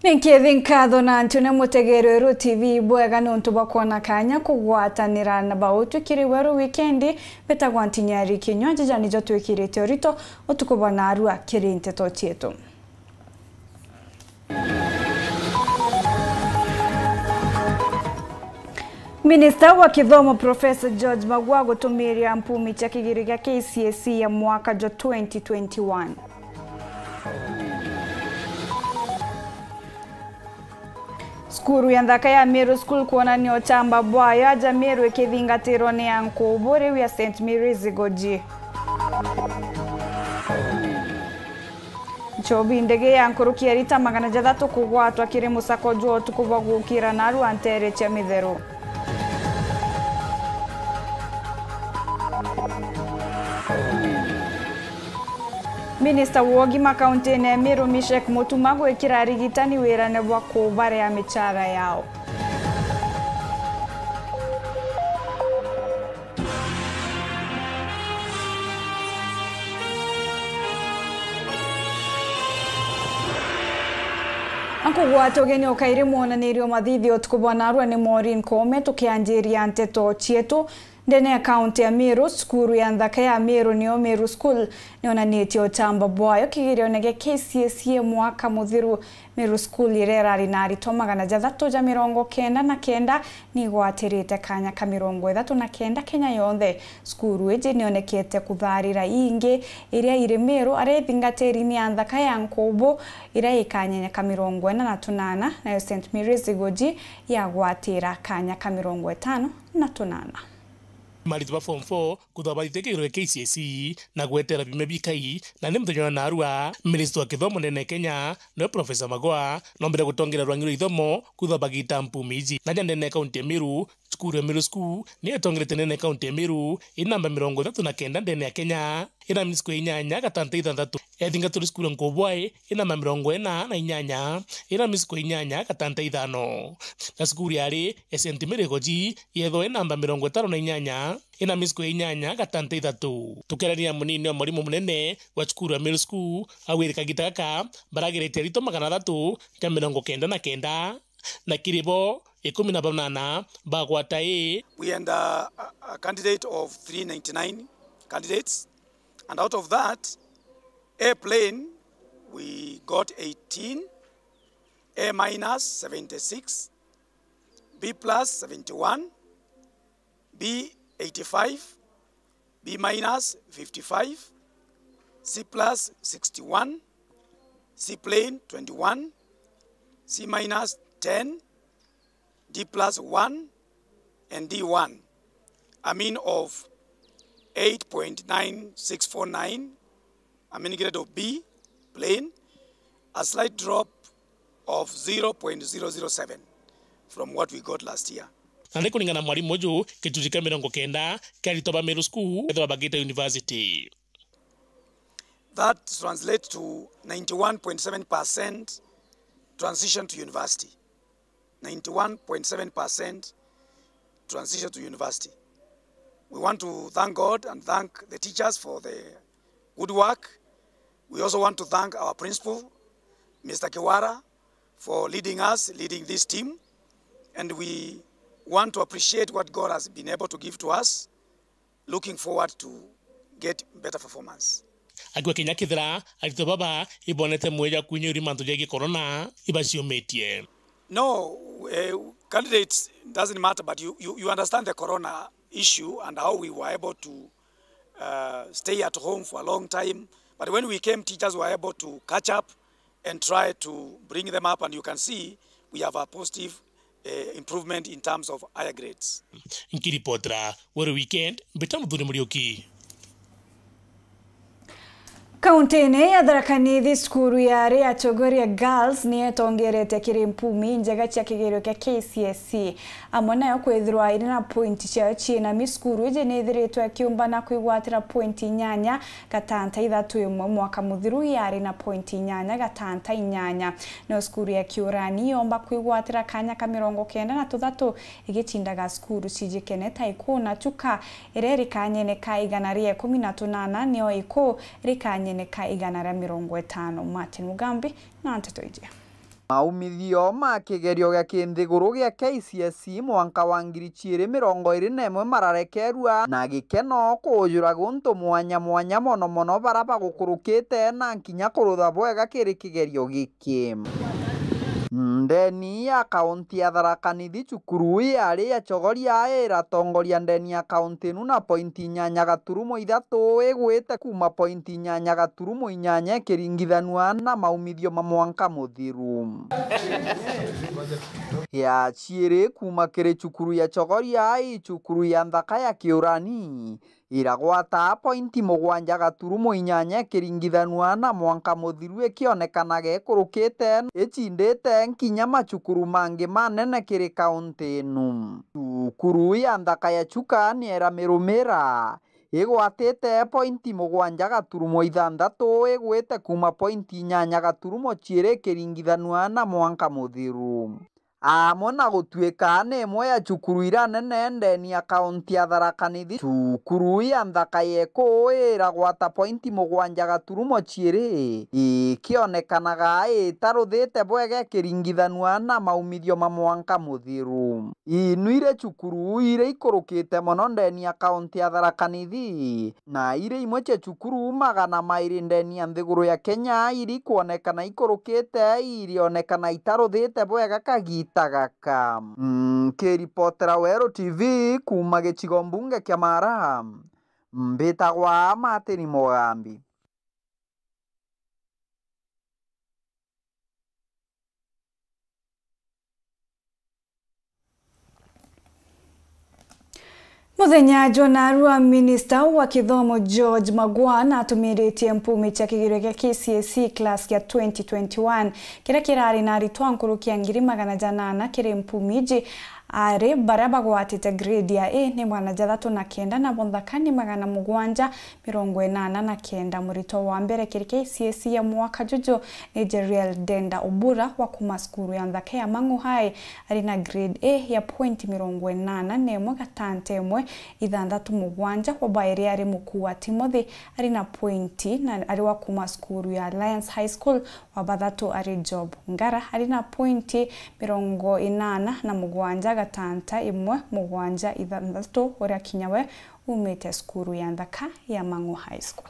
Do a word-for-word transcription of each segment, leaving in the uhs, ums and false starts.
Ninkithi nkatho na ntune mutegero Weru T V bwega niuntu bwa kwona kanya kugwatanira na bautwi kiri Weru Wikendi. Mbitagwa Ntinyari Kinyua, jija nijo twikirite urito utuku bwa narua kiri nteto cietu. Minista wa kithomo Professor George Magoha gutumiria mpumi cia kigerio gia K C S E ya mwaka jwa twenty twenty-one. Cukuru ya nthaka ya Meru School kwonania uchamba bwayo aja Meru ikithingatirwa ni ankubu riu ya Saint Mary's Igoji. Nchobi ndege ya nkuruki ya rita magana jathatu kugwatwa kiri musako jwa utuku bwa gukira narua nteere cia mitheru. Minista wa ugima kauntine ya Meru Mishek Mutuma gwikira arigitani wirane bwa kubarea michara yao. Ankugwata ugeni ukairi mwonanirio mathithio utuku bwa narua ni Maureen Koome, tukianjiria nteto cietu. Ndene ya kaunti ya Meru, cukuru ya nthaka ya Meru niyo Meru School nionanitie uchamba bwayo kigirione gia K C S E mwaka muthiru. Meru School iria irari na aritwa magana jathatu ja mirongo kenda na kenda ni igwatirite kanya ka mirongo ithatu na kenda Kenya yonthe. Cukuru iji nionekete kutharira ingi iria iri Meru, aria ithingatiri ni ya nthaka ya nkubu iria ikanyenya ka mirongo ina na tunana, nayo Saint Mary's Igoji yagwatira kanya ka mirongo itano na tunana. Maritwa ba form four kuthobathithia kigerio kia K C S E na gwetera biumia bikai na ni muthenya wa narua. Minista wa kithomo ndene ya Kenya, niwe Professor Magoha, nombire gutongeria rwangi rwa ithomo kuthobagiita mpumi iji. Na ja ndene ya kaunti ya Meru, cukuru ya Meru School niyo itongerete ndene ya kaunti ya Meru, ina namba mirongo ithatu na kenda ndene ya Kenya, ina misuko inyanya gatanta ithanthatu. Ethingaturi cukuru ya Nkobwae, ina namba mirongo ina na inyanya, ina misuko inyanya gatanta ithano. Na cukuru yari ya Saint Mary Goji yethwa ina namba mirongo itano na inyanya, ina misuko inyanya gatanta ithatu. Tukiarania na munini wa mwarimu munene wa cukuru ya Middle School, augire kagita gaka baragerete aritwa magana athatu ja mirongo kenda na kenda, na kiri bo ikumi na banana bagwata A. We had a, a, a candidate of three ninety-nine candidates, and out of that, A plain, we got eighteen, A minus, seventy-six, B plus, seventy-one, B, eighty-five, B minus, fifty-five, C plus, sixty-one, C plain, twenty-one, C minus, ten, D plus, one, and D one. A mean of eight point nine six four nine, a mean grade of B, plain, a slight drop of zero point zero zero seven from what we got last year. Na ni kuringana na mwarimu uju, gicunji kia mirongo kenda kia aritwa ba Meru School ethwa bagite university. That translates to ninety-one point seven percent transition to university. Ninety-one point seven percent transition to university. We want to thank God and thank the teachers for the good work. We also want to thank our principal, Mister Kiwara, for leading us, leading this team. And we want to appreciate what God has been able to give to us. Looking forward to get better performance. Akiuga kinya kethira aritwa baba ibonete mwija kwinyuria mantu jegie corona, ibaciumitie. No, eh, candidates doesn't matter, but you, you, you understand the corona issue and how we were able to, uh, stay at home for a long time. But when we came, teachers were able to catch up and try to bring them up, and you can see we have a positive, eh, improvement in terms of higher grades. Nkiripotera Weru Weekend, mbita Muthuri Muriuki. Kauntine ya Tharaka Nithi, cukuru ya Ria Chogoria Girls ni yetongerete kiri mpumi njega cia kigerio kia K C S E. Amwe nayo kwithirwa iri na point ciayo ciina mi, cukuru iji ni ithiritwe ikiumbana kwigwatira point inyanya gatanta ithatu imwe, mwaka muthiru yari na point inyanya gatanta inyanya. Nayo cukuru ya Kiurani yomba kwigwatira kanya ka mirongo kenda na tuthatu igicindaga cukuru cijikene ta Ikuu na Chuka, iria iri kanyene ka igana ria ikumi na tunana, nio Ikuu iri kanyene ka igana ria mirongo itano. Martin Mugambi na nteto iji. Maumithio ma kigerio gia kinthiguru gia K C S E mwanka wa ngiri ciiri mirongo iri na imwe mararekerua na gikeno kuujura guntu mwanya mwanya, mono mono bara bagukurukite na kinya kurutha bwega kiri kigerio giki. Ndeni ya kaunti ya Tharaka Nithi, cukuru yari ya Chogoria iratongoria ndeni ya kaunti inu na pointi inyanya gaturumo ithatu, igwite kuuma pointi inyanya gaturumo inyanya ikiringithanua na maumithio ma mwanka muthiru. Ya ciiri kuuma kiri cukuru ya Chogoria i cukuru ya nthaka ya Kiurani, iragwata pointi mugwanja gaturumo inyanya ikiringithanua na mwanka muthiru, ikionekanaga ikurukite icindite nkinya macukuru mangi manene kiri kaunti inu. Cukuru ya nthaka ya Chuka ni iramirumira, igwatite pointi mugwanja gaturumo ithanthatu, igwite kuuma pointi inyanya gaturumo ciiri ikiringithanua na mwanka muthiru. Amwe na gutuika ni imwe ya cukuru iria nene ndeni ya kaunti ya Tharaka Nithi, cukuru ya nthaka ya Ekuu iragwata pointi mugwanja gaturumo ciiri, ikionekanaga itaruthite bwega ikiringithanua na maumithio ma mwanka muthiru. Inu iri cukuru iria ikurukite mono ndeni ya kaunti ya Tharaka Nithi, na iri imwe cia cukuru magana mairi ndeni ya nthiguru ya Kenya iri kwonekana ikurukite, irionekana itaruthite bwega kagita gaka. Nkiripotera Weru T V kuuma gicigo mbunge kia Mara, mbitagwa Martin Mugambi. Muthenya jwa narua, minista wa kithomo George Magoha natumiritie mpumi cia kigerio gia K C S E class gia twenty twenty-one, kiria kirari na aritwa nkuruki ya ngiri magana janana kiri mpumi iji. Ari baria bagwatite grade ya A ni magana jathatu na kenda, nabo nthaka ni magana mugwanja mirongo inana na kenda. Muritwa wa mbere kiri K C S E ya mwaka juju ni Jeriel Denda Obura wa kuma cukuru ya nthaka ya Mang'u High, ari na grade A ya point mirongo inana na imwe gatanta imwe ithanthatu mugwanja. Wa bairi ari Mukua Timothy, ari na point, na ari wa kuma cukuru ya Alliance High School. Wa bathatu ari Job Ngara, ari na point mirongo inana na mugwanja gatanta imwe mugwanja ithanthatu, uria kinya we umite cukuru ya nthaka ya Mang'u High School.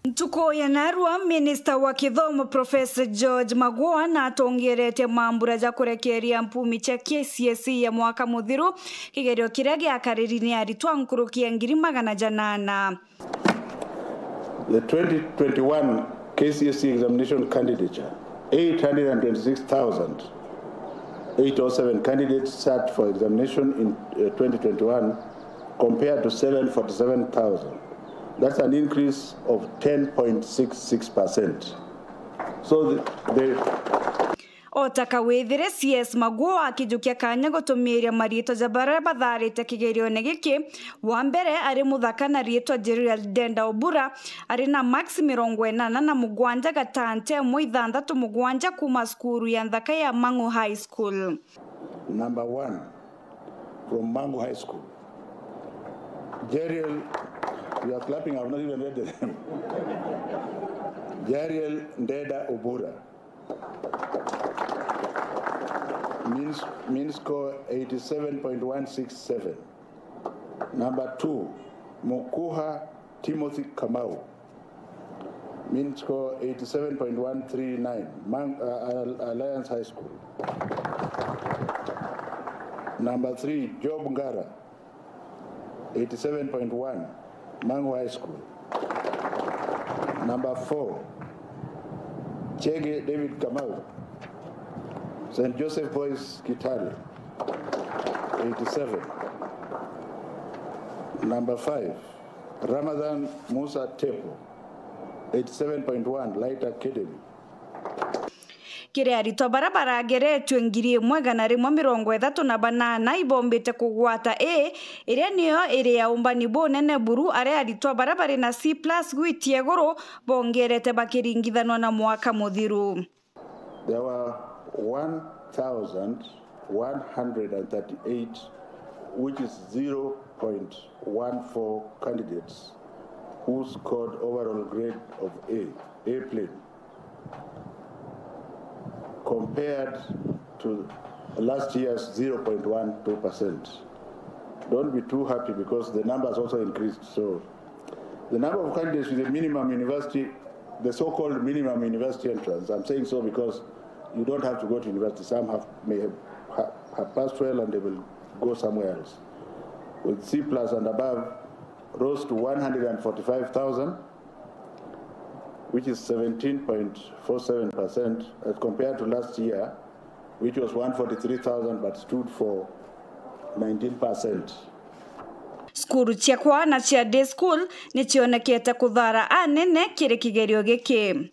Ntuku ya narua, minista wa kithomo Professor George Magoha natongeretie mambura ja kurekeria mpumi cia K C S E ya mwaka muthiru, kigerio kiria giakariri ni aritwa nkuruki ya ngiri magana janana. The twenty twenty-one K C S E examination candidature, eight hundred and twenty-six thousand eight oh seven candidates sat for examination in, uh, twenty twenty-one, compared to seven forty-seven thousand. That's an increase of ten point six six percent. So the, the O ta kawithire, C S Magoha akijukia kanya gutumiria mariitwa ja baria batharite kigerione giki. Wa mbere ari muthaka na riitwa Jeriel Denda Obura, ari na marks mirongo inana na mugwanja gatanta imwe ithanthatu mugwanja kuma cukuru ya nthaka ya Mang'u High School. Number one from Mang'u High School. Jeriel, you are clapping, I have not even read the name. Jeriel Ndeda Obura. Mean, mean score eighty-seven point one six seven. Number two, Mukuha Timothy Kamau. Mean score eighty-seven point one three nine. Man, uh, Al-, Alliance High School. Number three, Job Ngara. Eighty-seven point one, Mang'u High School. Number four, Chege David Kamau, Saint Joseph Boys Kitale, eighty-seven. Number five, Ramadhan Musa Tepo, eighty-seven point one, Light Academy. Kiri aritwa baria barageretue ngiri imwe igana rimwe mirongo ithatu na banana ibombite kugwata A, iria niyo iri ya umbani bunene buru, aria aritwa baria bari na C plus gwitia iguru bongerete bakiringithanwa na mwaka muthiru. There were one thousand one hundred and thirty-eight, which is zero point one four candidates, who scored overall grade of A, A plain. compared to last year's zero point one two percent. Don't be too happy because the numbers also increased. So the number of candidates with a minimum university, the so-called minimum university entrance, I'm saying so because you don't have to go to university. Some have, may have, ha- have passed well and they will go somewhere else. With C plus and above, rose to one hundred forty-five thousand, which is seventeen point four seven percent as compared to last year, which was one forty-three thousand but stood for nineteen percent. Cukuru cia kwana cia day school ni cionekete kuthara anene kiri kigerio giki.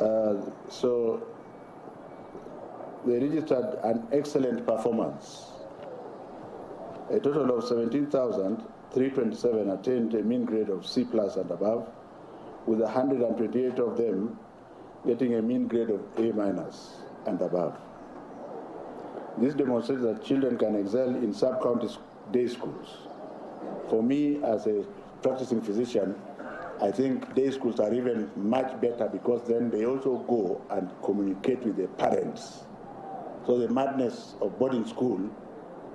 Uh, so they registered an excellent performance. A total of seventeen thousand three twenty-seven attained a mean grade of C plus and above, with one hundred twenty-eight of them getting a mean grade of A minus and above. This demonstrates that children can excel in sub-county s- day schools. For me, as a practicing physician, I think day schools are even much better because then they also go and communicate with the parents. So the madness of boarding school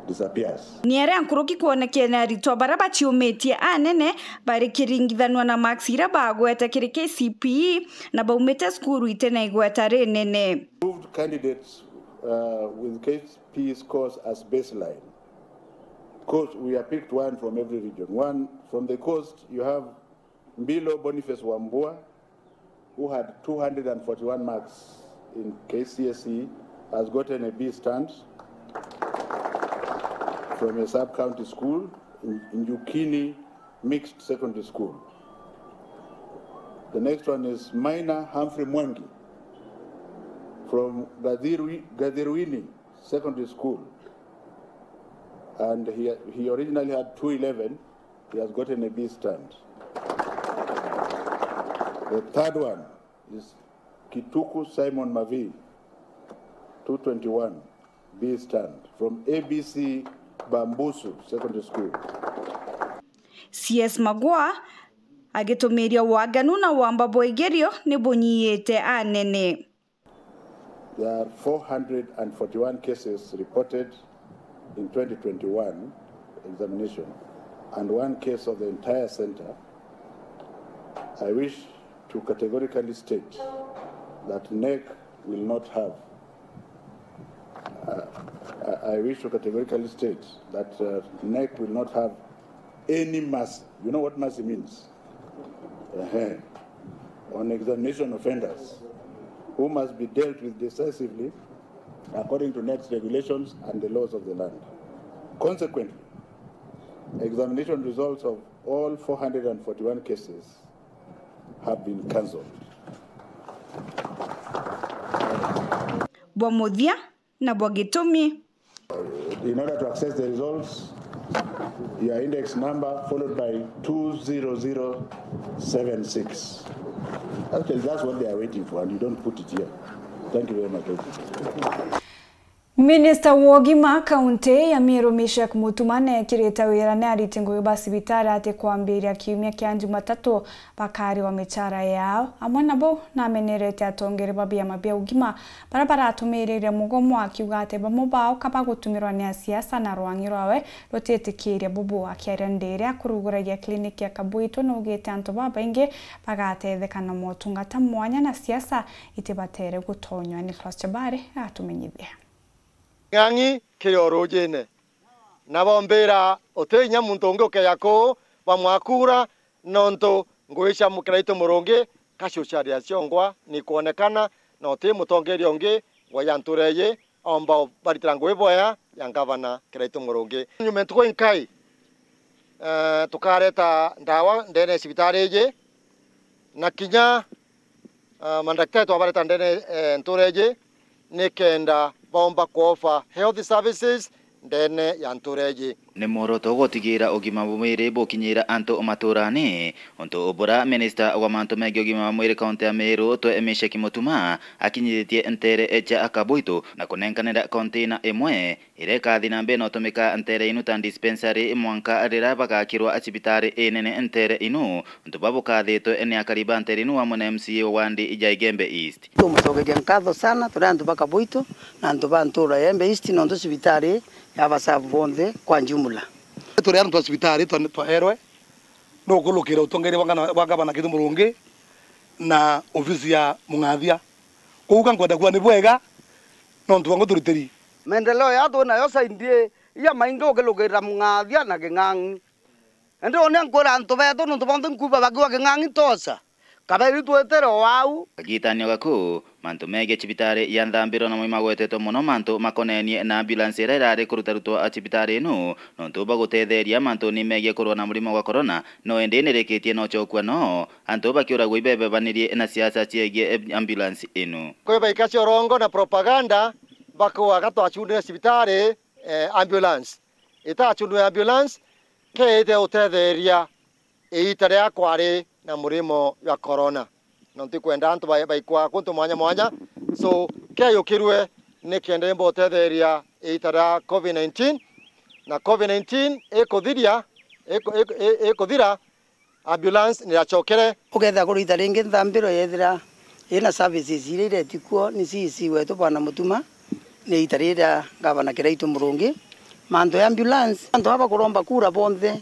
disappears. Ni aria nkuruki kwonekene aritwa baria baciumitie anene bari kiringithanua na marks iria bagwete kiri K C P E na baumite cukuru ite na igweta rinene. Approved candidates, uh, with K C P E scores as baseline. Coast, we have picked one from every region. One from the coast, you have Mbilo Boniface Wambua, who had two hundred forty-one marks in K C S E, has gotten a B stand from a sub-county school in, in Yukini Mixed Secondary School. The next one is Maina Humphrey Mwangi from Gathirwi- Gathirwini Secondary School, and he, he originally had two eleven. He has gotten a B stand. The third one is Kituku Simon Mavi, two twenty-one, B stand, from A B C Bambusu Secondary School. C S Magwa agitumiria waganu na wamba bwa igerio ni bunyiite anene. There are four hundred forty-one cases reported in twenty twenty-one examination and one case of the entire center. I wish to categorically state that NEC will not have, uh, I I wish to categorically state that uh, NEC will not have any mercy. You know what mercy means? Ehe. On examination offenders who must be dealt with decisively according to NEC's regulations and the laws of the land. Consequently, examination results of all four hundred forty-one cases have been cancelled. Bwa muthia na bwa gitumi. In order to access the results, your index number followed by two zero zero seven six. Actually, that's what they are waiting for, and you don't put it here. Thank you very much. Minista wa ugima kaunti ya Meru Meshack Mutuma neekirite wira ni ariti ngugi ba cibitari ati kwambiria kiumia kia Jumatatu bakariwa michara yao. Amwe na bau, namenerete atongeri ba biama bia ugima baria baratumiriire mugomo, akiuga ati bamwe bao ka bagutumirwa ni asiasa na rwang'i rwawe rutitikiiria bubu. Akiaria ndiri akuruguragia kiliniki ya Kabuitu, naugite antu babaingi bagatetheka na motungata mwanya na siasa itibatere gutonywa. Nicholas Chabari atumenyithia. Ng'ang'i kiri o rujine, na bombira uti inya muntu ungi ukeja kuu bamwakura, nontu ngugi cia Kiraitu Murungi ka ciucaria ciongwa nikwonekana, na uti mutongeria ungi ngwa ya ntura iji omba baritira ngugi bwea ya ngavana Kiraitu Murungi. Nyuma ntuku inkai, eh, tukareta ndawa ndene ya cibitari iji, na kinya, ah, mandakitari twabareta ndene, eh, ntura iji, nikenda baomba kuofa health services ndene ya ntura iji. Ni mworoto gutigira ugima bwa mwiri bukinyira antu maturani, untu bura minista wa mantu megi ugima bwa mwiri kaunti ya Meru, Twe Meshaki Mutuma, akinyithitie ntere cia Kabuitu na kunenkanira container imwe iria ikathi na mbere na utumika ntere inu ta dispensary mwanka riria bagakirwa cibitari inene ntere inu, untu bwa bukathitwe ni akari ba ntere inu amwe na M C A wa wandi ya Igembe East. Tumucokeria nkatho sana turi antu ba Kabuitu na antu ba ntura ya Igembe East, nontu cibitari ya basabu bonthe kwa jumla. Turi antu ba cibitari twa-, twaerwe nukulukira utongeria bwa ngana-, bwa gavana Kithure Murungi na ofisi ya Mung'athia. Kuuga nkwenda kuuga ni bwega, nontu bwangu turitiri. Maendeleo ya twinayo saindi ya maingi ukilukira Mung'athia na King'ang'i. Indi uuni nkwira antu betu, nontu bonthe nkuuga bakiuga King'ang'i tosa. Kaberi twitire o au. Kagitanio gaku, mantu megie cibitari ya Nthambiro namo imagwetetwe mono mantu makonenie na ambulance iria irari kurutarutwa cibitari inu, nontu bwa gutetheria mantuni megie kurua na murimo gwa corona, no indi nirikitie na ucokua no antu bakiuragwa ibebebanirie na siasa ciegie ambulance inu. Kwi baikacia urongo na propaganda, bakuuga gatwacundire cibitari, eh, ambulance. Itacundwe ambulance, keete utetheria iita riria kwari na murimo jwa corona. Na ntikwenda antu ba-, baikwa kuntu mwanya mwanya. So, keyukirwe nikenda imba utetheria iita ria covid nineteen. Na covid nineteen ikuthiria, iku-, iku-, i-, ikuthira, ambulance niracokere. Ukethira kuri iita ringi Nthambiro yethira ina services iria ireti kuo ni C E C wetu Bwana Mutuma, ni iita riria Gavana Kiraitu Murungi. Mantu ya ambulance, antu aba kuromba kura bonthe,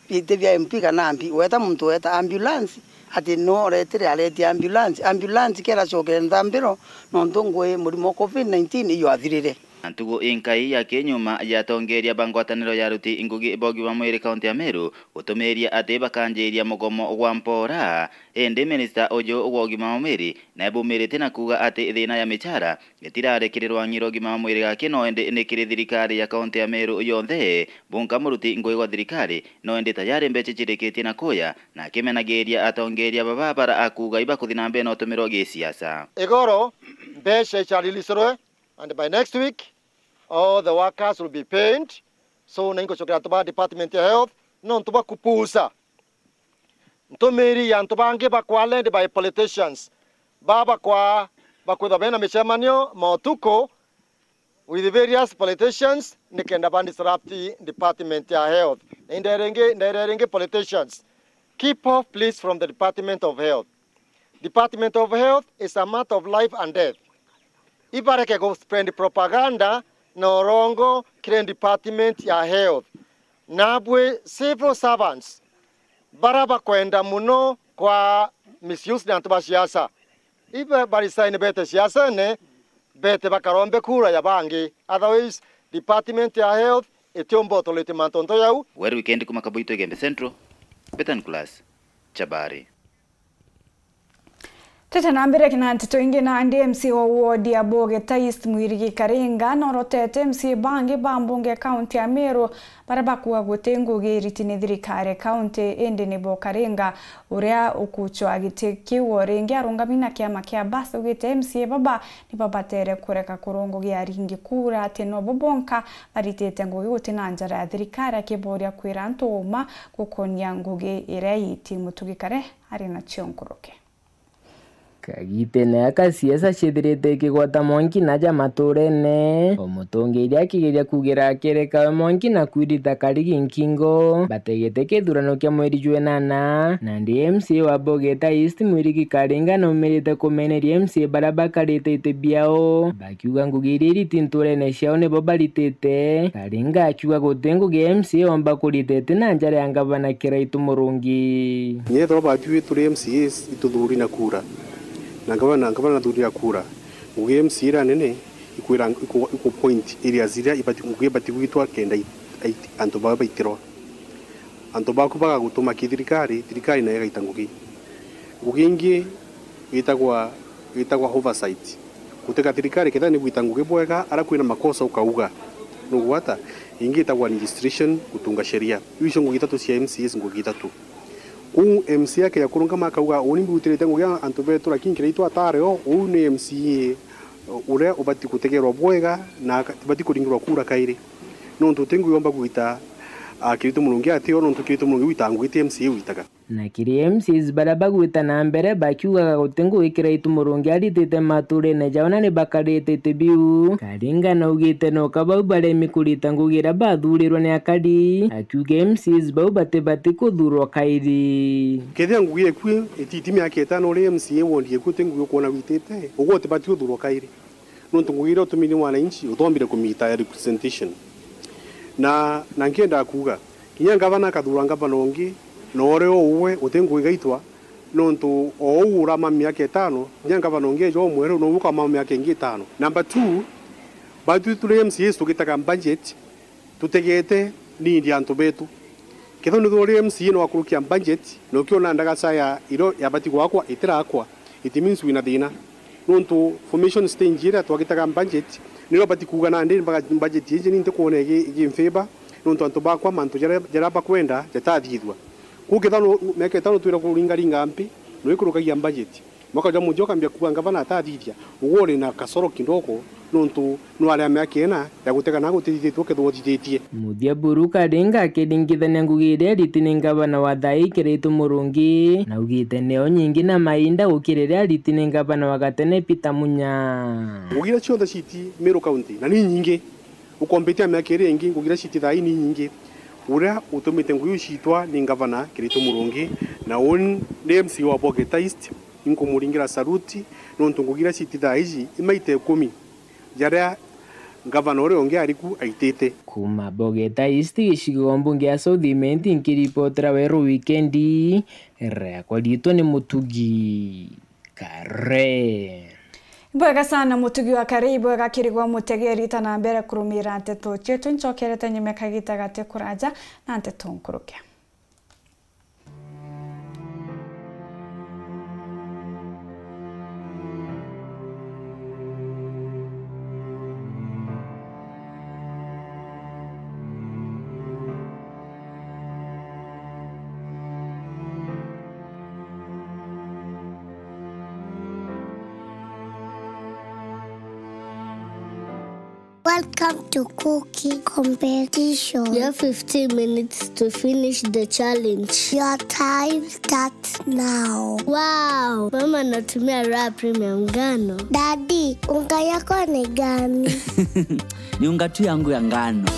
biti bia M P kana M P, weta muntu weta ambulance, ati no oretire aretie ambulance. Ambulance keracokere Nthambiro, nontu ngui murimo wa covid nineteen iyo athirire. Na ntugu inkai ya kinyuma ya atongeria ba ngwataniro ya aruti ngugi ba ugima mwiri kaunti ya Meru gutumiria ati bakanjiria mugomo gwa mpora. Indi minista uju wa ugima wa mwiri nae bumirite na kuuga ati thina ya michara itirarekerirwa ng'iro ugima wa mwiri gaki, no indi ni kiri thirikari ya kaunti ya Meru yonthe. Bunka muruti ngugi gwa thirikari, no indi tayari mbeca cirikitie na kuya, na akimenagiria atongeria baba bara akuuga ibakuthi na mbere na utumirwa gisiasa. Igoro, mbeca icarilicerwe, and by next week, all the workers will be paid. So, na inkucokera antu ba department ya health, nontu bwa kupusa ntumiri ya antu bangi bakwa led by politicians. Ba bakwa bakwithwa bena micemanio motuku with various politicians, nikenda ba disrupt department ya health. Na indaire ingi, ndaire ringi politicians, keep off please from the department of health. Department of Health is a matter of life and death. Ibareke gu spread propaganda na urongo kiri department ya health. Nabwi civil servants bara bakwenda muno kwa misuse na antu ba siasa, ibe ba resign bete siasene, bete bakarombe kura ya bangi. Otherwise, department ya health itiumba utorete mantu nto yau. Weru Weekend kuma Kabuito, Igembe Central, Betan Class, Chabari. Tete na mbere kina nteto ingi, nandi M C A wa ward ya Bogeta East Mwirigi Karinga norotete M C A bangi ba mbunge ya kaunti ya Meru baria bakuuga guti ngugi iriti ni thirikari ya kaunti, indi nibo Karinga uria ukucwa giti kiu o ringi arungami na kiama kia Bus augite M C A baba nibo batere kureka kurwa ngugi ya aringi kura, ati nobo bonka baritite ngugi guti na njara ya thirikari, akiboria kwira antu uma gukonia ngugi iria iti. Mutugi Kare ari nacio nkuruki. Kagitene aka siasa ciithirite ikigwata mwanki na ja maturene, o mutongeria akigeria kugira akerekawe mwanki na kwirita karigi nkingo, bategete kithurano kia mweri jwa inana. Nandi M C A wa Bogeta East Mwirigi Karinga naumirite kumeneria M C A baria bakarite iti biao, bakiuga ngugi iria iriti nturene ciao nibo baritite. Karinga akiuga guti ngugi ya M C A omba kurita iti na njara ya ngavana Kiraitu Murungi. Kinya ethirwa batwi turi M C As ituthuri na kura, na ngavana, ngavana nathuri na kura, ngugi ya M C A iria nene ikwira, iku, iku point areas iria ibati, ngugi ibati gwitwa kenda i, i, antu baa baitirwa. Antu baku bagagutuma ki thirikari, thirikari nayo igaita ngugi. Ngugi ingi itagwa, itagwa oversight. Gutega thirikari kethira ni gwita ngugi bwega, ara kwina makosa ukauga. Nugwata? Ingi itagwa administration, gutunga sheria. Iu icio ngugi ithatu cia M C As, ngugi ithatu. Uu M C A akeja kurungama akauga, uu ni mbutirite ngugi antu betu, lakini kiria itu atare o, uu ni M C A uria ubati gutegerwa bwega na aka-, tibati kuringirwa kura kairi. Nontu uti ngugi yomba gwita Ah, Kiraitu Murungi atio, nontu Kiraitu Murungi wita ngugi ti M C A witaga. Na kiri M C As baria bagwita na mbere bakiugaga guti ngugi Kiraitu Murungi aritite maturene jao na ni bakarite iti biu. Karinga naugite noka bau baremi kurita ngugi iria bathurirwe ni akari, akiuga M C As bau batibati kuthurwa kairi. Kethira ngugi eku ititi miaka itano uri M C A ward eku uti ngugi ukwona witite, ugwe utibati uthurwa kairi. Nontu ngugi iria utumire mwananchi, uthombire kumita ya representation. Na, na nkienda kuuga, kinya ngavana akathura ngavana ungi, na uria uwe uti ngugi gaitwa, nontu o uu urama miaka itano, kinya ngavana ungi eja umweru, nou ukamama miaka ingi itano. Number two, batwi turi M C As tugitaga budget, tutegete need ya antu betu. Kethira ni uri M C A na wakurukia budget, na ukiona ndagaca ya iro yabati gwakwa itirakwa, it means wina thina. Nontu formation stage iria twagitaga budget, nirio bati kuuga nandi mbaga-, budget iji ni ntikwona igi-, igimfavour, nontu antu bakwa mantu jaria, jaria bakwenda jatathithua. Kuu kethira nu-, miaka itano twira kuringaringa mpi, na wikurukagia budget. Mwaka jwa muthia ukambia kuuga ngavana atathithia, ugwe uri na kasoro kidogo, nontu nwari a miaka ina ya gutega na gutithithitue kethirwa uthithitie. Muthia Buru Karinga akiringithania ngugi iria iriti ni ngavana wa thaa ii Kiraitu Murungi, na augite nio nyingi na mainda gukira iria iriti ni ngavana wa gatene Peter Munya. Ngugi iria cionthe citi Meru County, na ni nyingi. Ukompitia miaka iria ingi, ngugi iria citi thaa ii ni nyingi. Uria utumite ngugi iu ciitwa ni ngavana Kiraitu Murungi, na uu ni M C A wa Bogeta East, inkumuringira saluti, nontu ngugi iria citi thaa iji imaita ikumi jaria ngavana uria ungi ari ku aitite. Kuuma Bogeta East, gicigo mbunge ya South Imenti, nkiripotera Weru Wikendi, riakwa riitwa ni Mutugi Kare. Ibwega sana, Mutugi wa Kare, ibwega kirigwa mutegeri, ta na mbere kurumira nteto cietu. Ncokerete nyuma kagita gati kuraja na nteto nkuruke. Welcome to cooking competition. You have fifteen minutes to finish the challenge. Your time starts now. Wow! Mama anatumia Raha Premium ngano. Daddy, unga yako ni gani? Ni unga tu yangu ya ngano.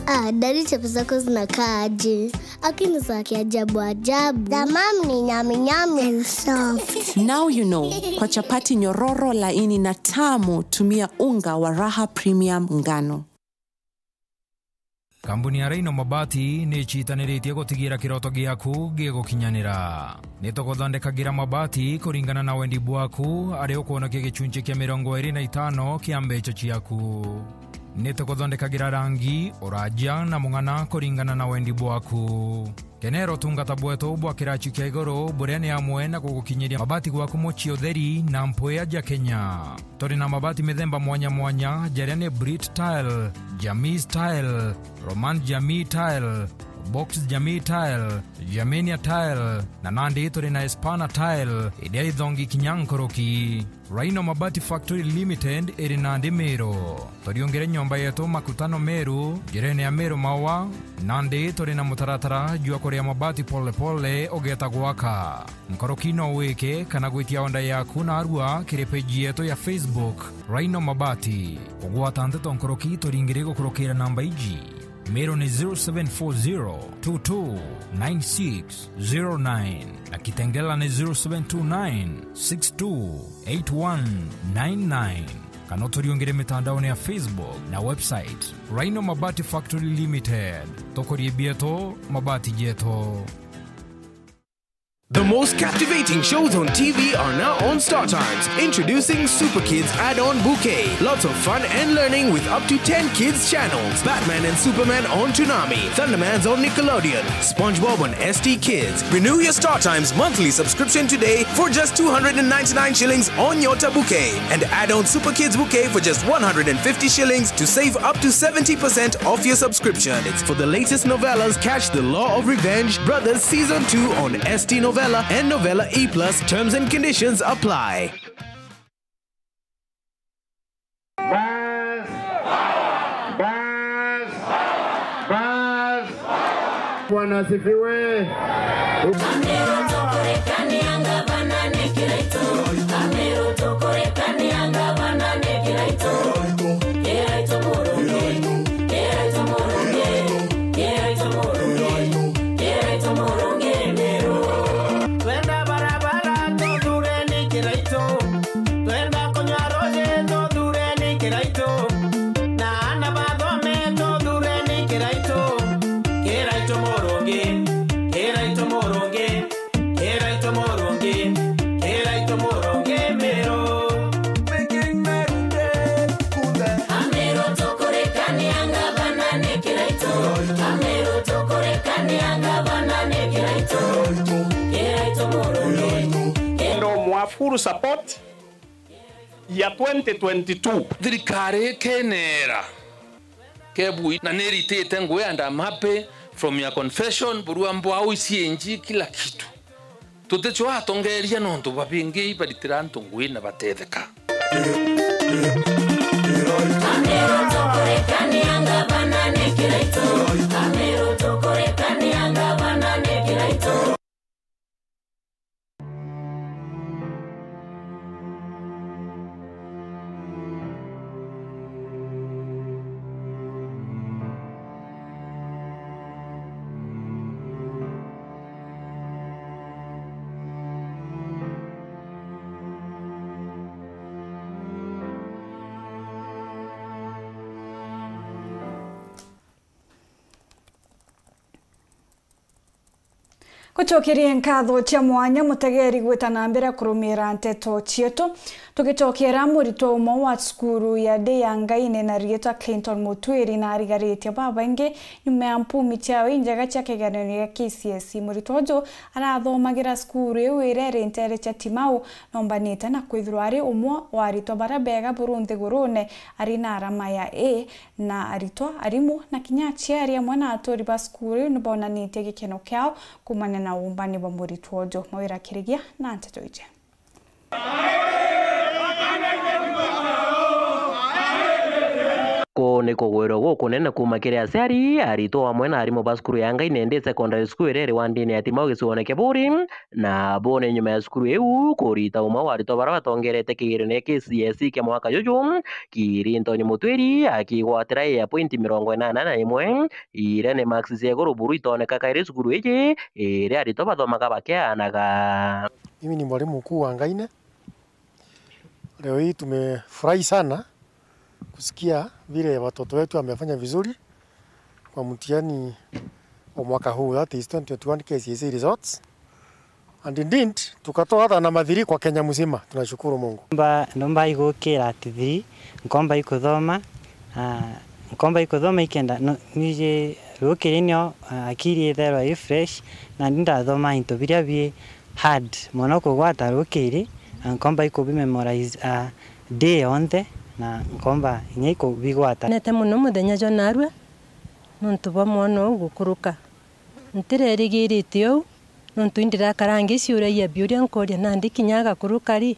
Ah, Daddy, chapo zako zinakaa aje? Lakini za kiajabu ajabu. The mom ni nyami nyami and soft. Now you know, kwa chapati nyororo, laini na tamu, tumia unga wa Raha Premium ngano. Kambuni ya Rhino Mabati ni icitaniritie gutigira kiroto giaku gigukinyanira. Ni tuguthondekagira mabati kuringana na wendi bwaku, ari ukwonokia gicunci kia mirongo iri na itano kia mbeca ciaku. Ni tuguthondekagira rangi, uraja na mung'ana kuringana na wendi bwaku. Kenera utungata bwetu bwa kiraci kia iguru, buria ni amwe na gugukinyiria mabati gwaku mucii utheri na mpwia ja Kenya. Turi na mabati mithemba mwanya mwanya, jaria ni Brit Tile, Jamii Tile, Roman Jamii Tile, Box Jamii Tile, Germania Tile, na nandi turi na Espana Tile, iria ithongi kinya nkuruki. Rhino Mabati Factory Limited iri nandi Meru. Turiungire nyomba yetu Makutano Meru, njirene ya Meru Maua, nandi turi na mutaratara jwa kuria mabati pole pole ugeeta gwaka. Nkuruki no wike kana gwitia order yaku narua kiri page yetu ya Facebook, Rhino Mabati. Kugwata nteto nkuruki turingire gukurukira namba iji. Meru ni zero seven four zero two two nine six zero nine, na Kitengela ni zero seven two nine six two eight one nine nine. Kana uturiungire mitandaone ya Facebook na website, Rhino Mabati Factory Limited. Tukurie bietu, mabati jetu. The most captivating shows on T V are now on Star Times. Introducing Super Kids Add-on Bouquet. Lots of fun and learning with up to ten kids channels. Batman and Superman on Toonami. Thundermans on Nickelodeon. SpongeBob on S T Kids. Renew your Star Times monthly subscription today for just two hundred and ninety-nine shillings on Nyota Bouquet. And add on Super Kids Bouquet for just one hundred and fifty shillings to save up to seventy percent off your subscription. It's for the latest novellas, catch The Law of Revenge, Brothers Season two on S T Novella and Novella E plus. Terms and conditions apply. Bas. Bwana asifiwe. Twenda barabara tuthureni Kiraitu, twenda kunywa ruji tuthureni Kiraitu, na ana bathome tuthureni Kiraitu, Kiraitu murungi, Kiraitu murungi, Kiraitu murungi, Kiraitu murungi Meru. Making Meru great today. Ameru tukurekania ngavana ni Kiraitu, Ameru tukurekania ngavana ni Kiraitu, Kiraitu murungi. Ndo mwa full support ya twenty twenty-two. Thirikari ikenera kebui na niritite ngui and I'm happy from your confession, burua mbwau, C N G, kila kitu. Tuticwa atongeria nontu babingi ibaritira antu ngui na batetheka. Ameru tukurekania ngavana ni Kiraitu, Ameru tukurekania ngavana ni Kiraitu. Gucokeria nkatho cia mwanya mutegeri gwita na mbere kurumira nteto cietu. Tugicokera muritwa umwe wa cukuru ya Day ya Ngaine na riitwa Clinton Mutwiri na arigaritie babaingi nyuma ya mpumi ciawe injega cia kigeranio gia K C S E. Muritwa uju arathomagira cukuru iu iria iri nteere cia Timau, nombanite na kwithirwa ari umwe wa aritwa baria bega buru nthigurune, ari na arama ya A. Na aritwa, arimu, na kinya aciari amwe na aturi ba cukuru iu ni bonanitie gikeno kiao kuumania na uumbani bwa muritwa uju. Mawira Kirigia na nteto iji. Kuu ni kugwirwa gukunene kuuma kiri aciari, aritwa amwe na arimu ba cukuru ya Ngaine Day Secondary School iria iri wandini ya Timau gicigoone kia Buuri, na bo ni nyuma ya cukuru iu kurita umwe wa aritwa baria batongerete kigeranio kia K C S E kia mwaka juju, Clinton Mutwiri akigwatira A ya pointi mirongo inana na imwe, iria ni marks cia iguru buru itoneka kairi cukuru iji, iria aritwa bathomaga bakianaga. Mimi ni mwalimu mkuu wa Ngaine. Leo hii tumefurahi sana kusikia vile watoto wetu wamefanya vizuri kwa mtihani wa mwaka huu, that is twenty twenty-one K C S E results. And indeed, tukatoa hata namba three kwa Kenya mzima. Tunashukuru Mungu. Mba, ndomba igukira at three, nkomba ikuthoma, ah, nkomba ikuthoma ikenda, no, nije rukiri nio, ah, akiri itherwa i fresh, na ndi ndathoma into biria bi hard mono kugwata rukiri, na nkomba ikubimemorize, ah, day yonthe, na nkomba inya ikubigwata. Nete mono muthenya jwa narua, nontu bwa mwana uu gukuruka. Ntirerigirite uu, nontu indirakara ngiciuragia biuria nkoria nandi kinya agakuruka ri,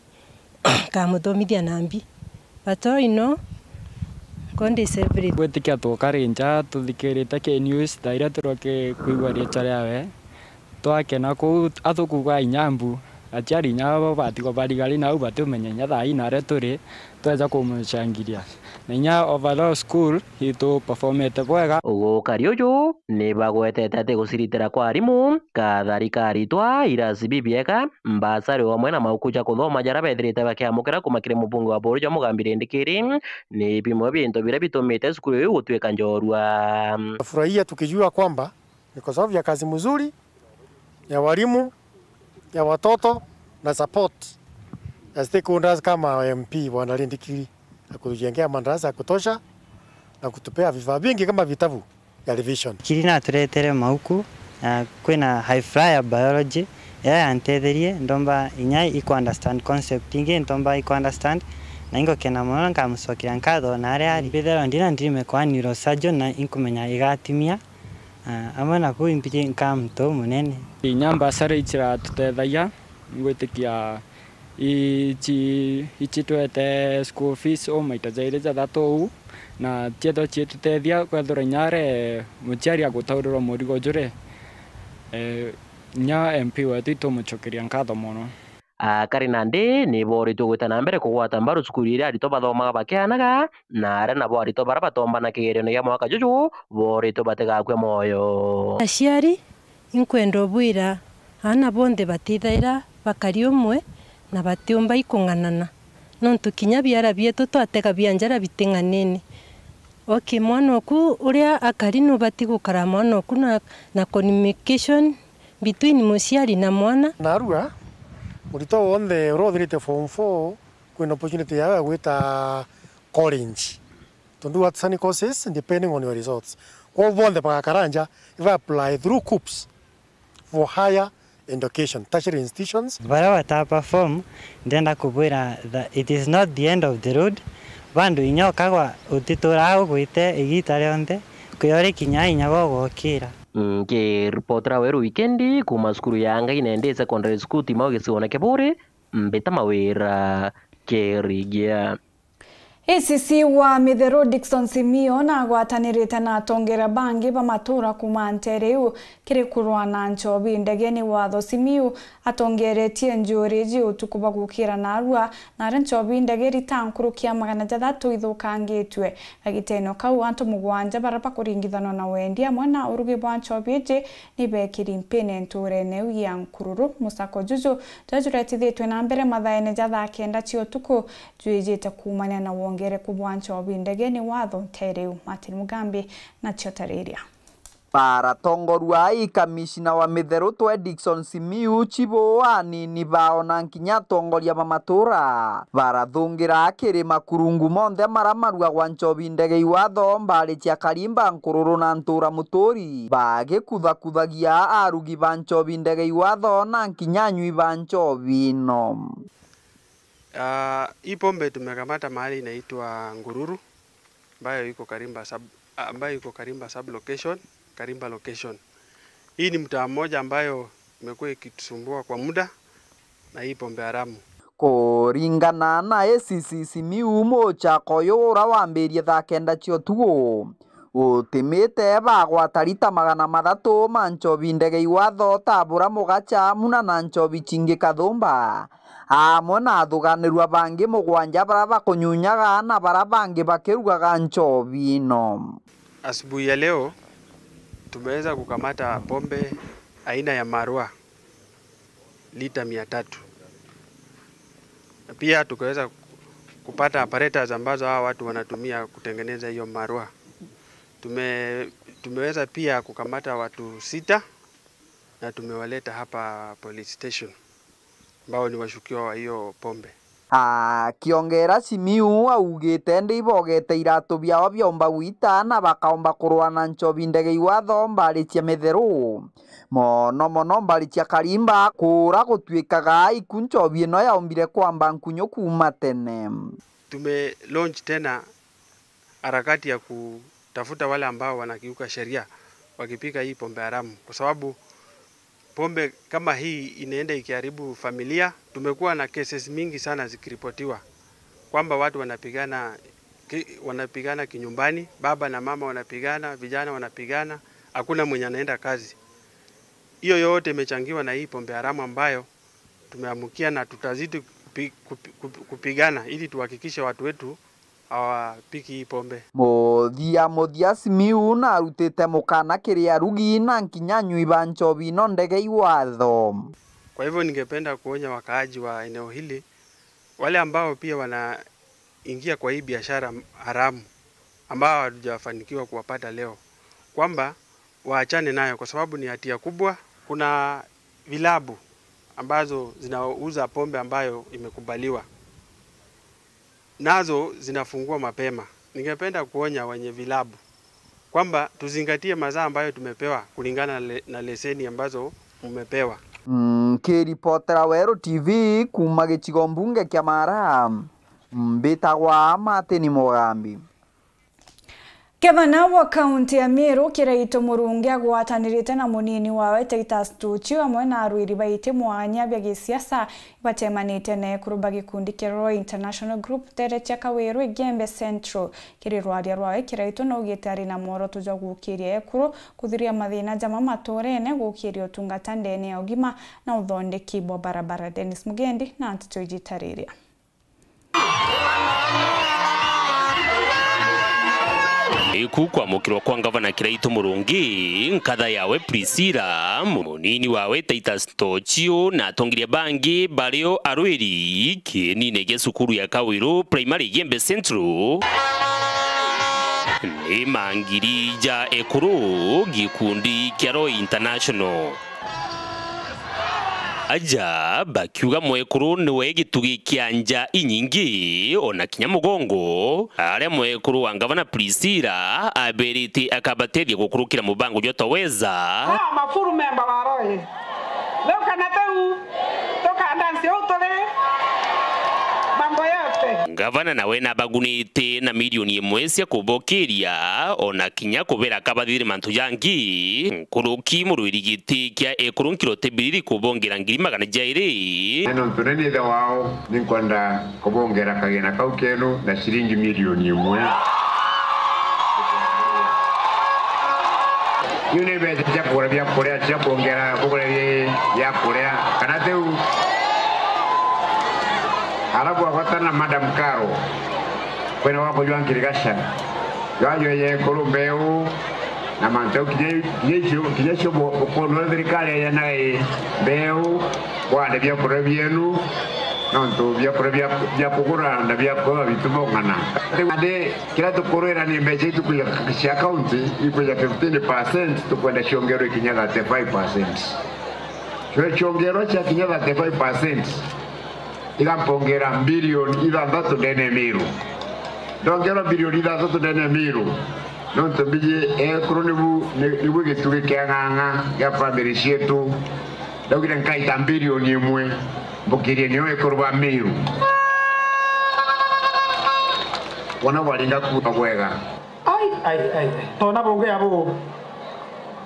nkamuthomithia nambi. But all in all, God is everything. Gwitikia tukari nja tuthikirite ki news thaa iria turoke kwigua riitwa riawe, twakena kuu athukuga inya mbu. Aciari inya bo batigwa barigari nau batumenya inya thaa ii naria turi, tweja kumucangiria. Na inya overall school itu performete bwega. Gukari uju ni bagwetete ati guciritira kwa arimu, kathari ka aritwa, irasi bibiega, mbasari o amwe na mauku ja kuthoma jaria bethirite bakiamukira kuuma kiri mubunge wa Buuri jwa Mugambi Rindikiri, ni bimwe bia into biria bitumite cukuru iu gutwika njorua. Furahia tukijua kwamba ni kwa sababu ya kazi mzuri ya walimu, ya watoto na support ya stakeholders kama M P Bwana Rindikiri, ya kutujengea madarasa ya kutosha na kutupea vifaa vingi kama vitabu ya revision. Kiri naturetere mauku, na kwina high flyer biology, iria yantetherie, ndomba inya iku understand concept ingi, ntomba iku understand, na ingokena mono na nkamucokeria nkatho na aria ari. Mbithirwa ndina dream kwa neurosurgeon na inkumenya igatimia. Ah, amwe na kuu imbiji nkaa muntu umunene. Inya mbasari iciratutethayia, ngwitikia ici, icitwete school fees o maita jairi jathatu uu, na ciethwa ciitutethia kwethirwa inya ari muciari agutaurirwa murigo juri, Eh, nya M P wetu itumucokeria nkatho mono. Akari nandi ni booritwe gwita na mbere kugwata mbaru cukuru iria aritwa bathomaga bakianaga, na aria nabo aritwa baria batombana kigerio gia mwaka juju booritwe batigakue mwoyo. Aciari, inkwenda ubwira aana bonthe batithaira bakari umwe na batiumba ikung'anana, nontu kinya biara bietu twatega bia njara biting'anene. Okay, mwana oku uria akari nubati gukara mwana oku na, na communication between muciari na mwana. Narua, muritwa wonthe uria uthirite form four kwina opportunity yawe ya gwita college. Tondu what some courses depending on your results. Kwou bonthe bagakara nja, iba apply through KUCCPS for higher education, tertiary institutions. Baria bata perform, ndenda kubwira that it is not the end of the road. Bandu inya ukagwa utituraga ugwite igita rionthe, kwio rikinyaa inya gogokira. Nkiripotera Weru Wikendi kuuma cukuru ya Ngai Nandi Secondary School Timau gicigoone kia Buuri, mbita Mawira Kirigia. A C C wa Mitheru Dickson Simiyu nagwatanirite na atongeria bangi ba matuura kuuma nteere iu kiri kurwa na nchobi ndegeni. Watho Simiyu atongeretie njuuri iji utuku bwa gukira naarua, na aria nchobi ndege irita nkuruki ya magana jathatu ithukangitue. Kagitene o kau, antu mugwanja baria bakuringithanwa na wendi amwe na urugi bwa nchobi iji ni beekiri mpine ntuurene iu ya Nkururu. Musako juju juria juretithitwe na mbere mathaene ja thaa kenda cia utuku jwijite kuumania na wongereku bwa nchobi ndegeni watho nteere iu. Martin Mugambi nacio tariria. Baratongorua i kamishina wa Mitheru twe Dickson Simiyu, chibu, anini bao na nkinya atongoria ba matuura barathungira kiri makurungu monthe maria maruagwa nchobi ndege iwatho, mbari cia Karimba, Nkururu na Ntuura Muturi, bagikuthakuthagia arugi ba nchobi ndege iwatho na nkinya anywi ba nchobi ino. Ah, hii pombe tumekamata mahali inaitwa Ngururu, ambayo iko Karimba sub, ambayo iko Karimba sub location, Karimba location. Hii ni mtaa mmoja ambayo imekuwa ikitusumbua kwa muda na hii pombe haramu. Kuringana na A C C Simiyu, muchaka uyu ura wambirie thaa kenda cia utuku, utimite bagwata rita magana mathatu ma nchobi ndege iwatho, tabura mugacha, muna na nchobi chingi kathumba, amwe na athuganirua bangi mugwanja baria bakunyunyaga na baria bangi bakirugaga nchobi ino. Asubuhi ya leo tumeweza kukamata pombe aina ya marwa lita mia tatu. Na pia tukaweza kupata apparatus ambazo hawa watu wanatumia kutengeneza hiyo marwa. Tume-, tumeweza pia kukamata watu sita na tumewaleta hapa police station, ambao ni washukiwa wa hiyo pombe. Akiongera, Simiyu augite ndi ibogete iratu biao biaumba gwita na bakaumba kurwa na nchobi ndege iwatho mbari cia Mitheru, mono mono mbari cia Karimba, kura gutuikaga iku nchobi ino yaombire kwamba nkunyu kuuma tene. Tume launch tena harakati ya kutafuta wale ambao wanakiuka sheria wakipika hii pombe haramu, kwa sababu pombe kama hii inaenda ikiharibu familia. Tumekuwa na cases mingi sana zikiripotiwa kwamba watu wanapigana ki-, wanapigana kinyumbani, baba na mama wanapigana, vijana wanapigana, hakuna mwenye anaenda kazi. Hiyo yote imechangiwa na hii pombe haramu ambayo tumeamkia, na tutazidi kupi-, kupi-, kupi-, kupigana ili tuhakikishe watu wetu hawapiki hii pombe. Muthia muthia, Simiyu narutite mukana kiri arugi na nkinya anywi ba nchobi ino ndege iwatho. Kwa hivyo ningependa kuonya wakaaji wa eneo hili, wale ambao pia wanaingia kwa hii biashara haramu, ambao hatujafanikiwa kuwapata leo, kwamba waachane nayo kwa sababu ni hatia kubwa. Kuna vilabu ambazo zinauza pombe ambayo imekubaliwa, nazo zinafungua mapema. Ningependa kuonya wenye vilabu kwamba tuzingatie masaa ambayo tumepewa kulingana na le-, na leseni ambazo mmepewa. Nkiripotera Weru T V kuuma gicigo mbunge kia Mara, mbitagwa Martin Mugambi. Gavana wa kaunti ya Meru, Kiraitu Murungi, agwatanirite na munini wawe Titus Tuchio, amwe na arwiri baiti mwanya bia gisiasa, ibatemanite na ekuru ba gikundi kia Roy International Group, nteere cia Kawiru, Igembe Central. Kiri rwaria rwawe, Kiraitu naugite ari na mworoto jwa gukiria ekuru, kuthiria mathina jama maturene, gukiria utungata ndene ya ugima na uthondeki bwa barabara. Dennis Mugendi na nteto iji itariria. Iku kwamukirwa kwa ngavana Kiraitu Murungi, nkatha yawe Priscilla, munini wawe Titus Tuchio na atongeria bangi bario arwiri kienine gia cukuru ya Kawiru Primary Igembe Central, ni mangiri ja ekuru gikundi kia Roy International. Aja bakiuga mwekuru niwe gitugi kia nja inyingi, ona kinya mugongo, aria mwekuru wa ngavana Priscilla aberite akabatethia gukurukira mubango jwa Twaweza. Ah, mafuru memba wa Roy. Leo kana teu, tukandansi uu turi mambo yote. Ngavana nawe nabagunite na milioni imwe cia kubokiria, ona kinya kubera kabathithire mantu jangi, nkuruki murwiri giti kia ekuru nkiro tebiriri kubongera ngiri magana jairi. Na nontu ni ithe wao, ninkwenda kubongera kagina kau kenu na ciringi milioni imwe. Iu ni mbeca cia kugura biakuria, cia kuongera kugura bi-, biakuria, kana tiu? Arabu agwatana na Madam Karo, kwena wa kujwa ngirigasha. Jwajweje ekuru mbeu, na mantu jau kinya, kinya icio, kinya icio bu-, bukono thirikari yena i mbeu, bwande biakuria bienu, nontu biakuria bia, bia kugura na bia kuba bitu bong'ana. Ati, kiria tukurwira ni mbeca itu kuja cia county, ikuja fifteen percent, tukwenda ciongerwe kinya thirty-five percent. Cio ciongerwa cia kinya thirty-five percent, igampongera bilioni ithanthatu ndene ya Miru. Ndongerwa bilioni ithanthatu ndene ya Miru, nontu mbiji ekuru nibu, ni-, nibu gitugi kia ng'ang'a gia family cietu. Ndaugire nkaita bilioni imwe, mbukirie nio ekuru ba Miru. Wona bwaringa kuuga bwega. Ai, ai, ai, ai. Tona bungi abu.